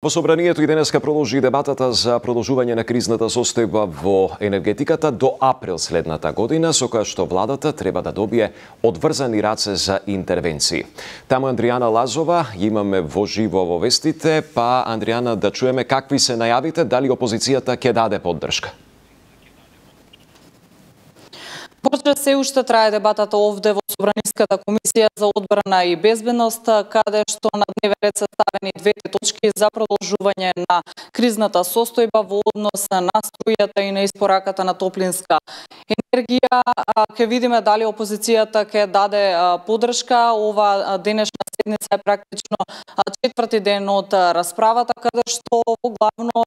Во собранието и денеска продолжи дебатата за продолжување на кризната состојба во енергетиката до април следната година, со која што владата треба да добие одврзани раце за интервенции. Таму Андријана Лазова имаме во живо во вестите, па Андријана, да чуеме какви се најавите, дали опозицијата ќе даде поддршка? Почва се уште трае дебатата овде во Собраниската комисија за одбрана и безбедност, каде што на дневен ред се ставени двете точки за продолжување на кризната состојба во однос на струјата и на испораката на топлинска енергија. Ќе видиме дали опозицијата ќе даде поддршка. Ова денешна седница е практично четврти ден од расправата, каде што главно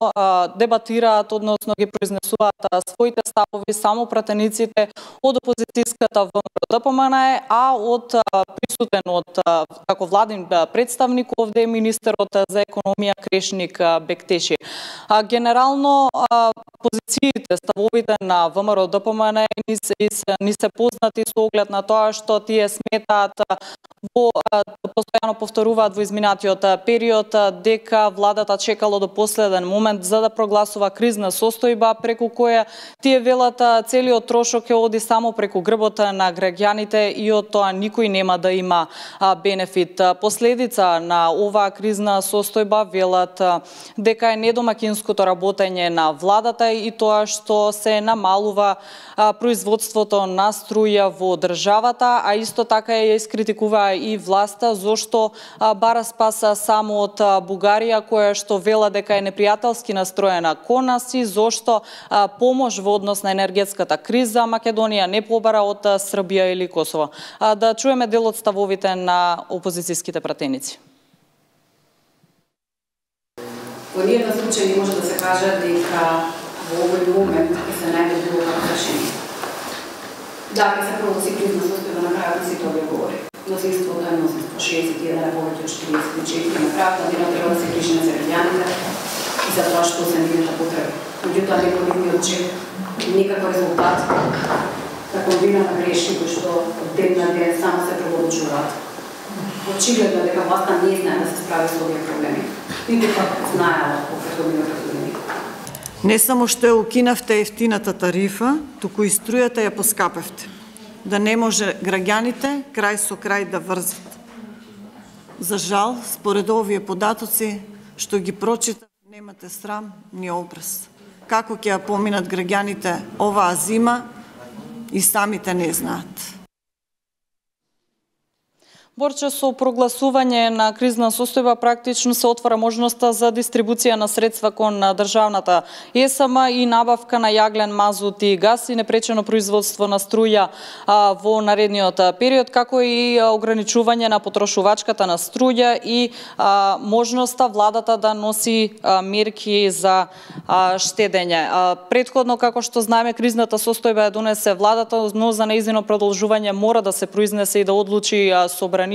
дебатираат, односно ги произнесуваат своите ставови само пратениците од опозицијската ВМРО-ДПМН, а од присутен како владин представник овде министерот за економија Крешник Бектеши. Генерално позициите, ставовите на ВМРО-ДПМН ни се познати со оглед на тоа што тие сметаат постојано повторуваат во изминатиот период дека владата чекало до последен момент за да прогласува кризна состојба, преку која тие велат целиот трошок ќе оди само преку грбот на граѓаните и од тоа никој нема да има бенефит. Последица на оваа кризна состојба велат дека е недомакинското работење на владата и тоа што се намалува производството на струја во државата, а исто така ја искритикува и власта зошто бара спаса само од Бугарија, која што вела дека е непријателски настроена кон нас и зошто помош во однос на енергетската криза Македонија не побара од Србија или Косово. Да чуеме дел од ставовите на опозицијските пратеници. Во ниеден случај не може да се каже дека во овој момент ќе се најде било какво решение. Да, ќе се прогласи кризна состојба, на крајот си тоа говори. Мнозинството е мнозинство, 61 е повеќе од 44, на крајот планирано треба да се грижиме за граѓаните и за тоа што се нивната потреба. Меѓутоа некој чек никаков резултат на комбинирана грешки кои што од ден на ден само се продолжуваат. Очигледно дека власта не знае да се справи со овие проблеми. Ниту пак знаела во претходните години. Не само што ја укинавте ефтината тарифа, туку и струјата ја поскапевте. Да не може граѓаните крај со крај да врзат. За жал, според овие податоци што ги прочитав, немате срам ни образ. Како ќе ја поминат граѓаните оваа зима и самите не знаат. Борче со прогласување на кризна состојба практично се отвара можноста за дистрибуција на средства кон државната ЕСМ и набавка на јаглен, мазут и газ и непречено производство на струја во наредниот период, како и ограничување на потрошувачката на струја и можноста владата да носи мерки за штедење. Претходно, како што знаеме, кризната состојба ја донесе владата, но за нејзино продолжување мора да се произнесе и да одлучи собранието.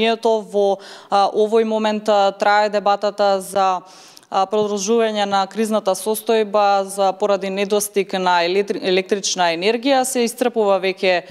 Во овој момент трае дебатата за продолжување на кризната состојба поради недостиг на електрична енергија. Се истрпува веќе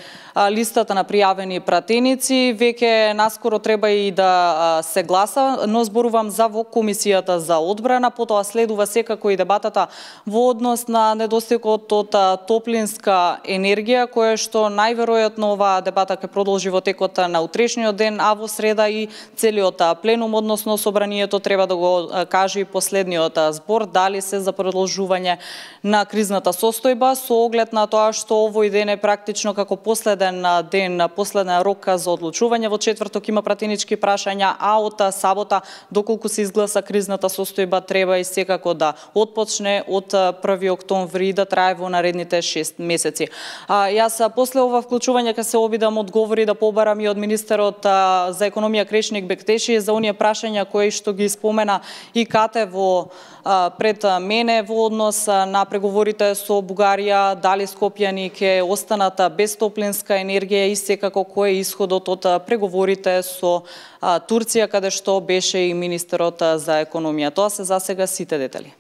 листата на пријавени пратеници, веќе наскоро треба и да се гласа, но зборувам за во комисијата за одбрана, потоа следува секако и дебатата во однос на недостигот од топлинска енергија, која што најверојатно оваа дебата ќе продолжи во текот на утрешниот ден, а во среда и целиот пленум, односно собранието треба да го каже и последниот збор дали се за продолжување на кризната состојба со оглед на тоа што овој ден е практично како последен последен рок за одлучување. Во четврток има пратенички прашања, а од сабота, доколку се изгласа кризната состојба, треба и секако да отпочне од 1 октомври и да трае во наредните 6 месеци. Јас после ова вклучување ќе се обидам одговори да побарам и од министерот за економија Крешник Бектеши за оние прашања кои што ги спомена и Кате пред мене во однос на преговорите со Бугарија, дали скопјани ќе останат без топлинска енергија и секако кој е исходот од преговорите со Турција, каде што беше и министерот за економија. Тоа се засега сите детали.